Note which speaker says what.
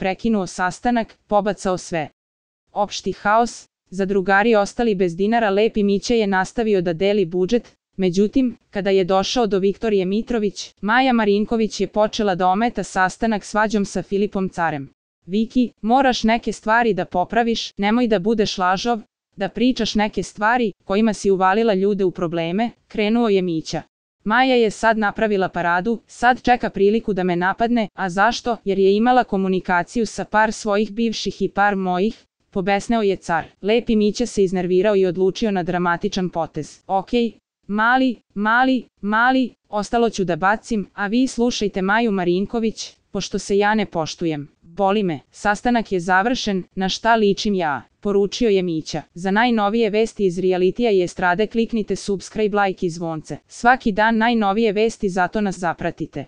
Speaker 1: prekinuo sastanak, pobacao sve. Opšti haos, zadrugari ostali bez dinara. Lepi Mića je nastavio da deli budžet, međutim, kada je došao do Viktorije Mitrović, Maja Marinković je počela da ometa sastanak svađom sa Filipom Carem. Viki, moraš neke stvari da popraviš, nemoj da budeš lažov, da pričaš neke stvari kojima si uvalila ljude u probleme, krenuo je Mića. Maja je sad napravila paradu, sad čeka priliku da me napadne, a zašto? Jer je imala komunikaciju sa par svojih bivših i par mojih, pobesneo je Car. Lepi Mića se iznervirao i odlučio na dramatičan potez. Okej, mali, ostalo ću da bacim, a vi slušajte Maju Marinković, pošto se ja ne poštujem. Boli me, sastanak je završen, na šta ličim ja, poručio je Mića. Za najnovije vesti iz realitija i estrade kliknite subscribe, like i zvonce. Svaki dan najnovije vesti, zato nas zapratite.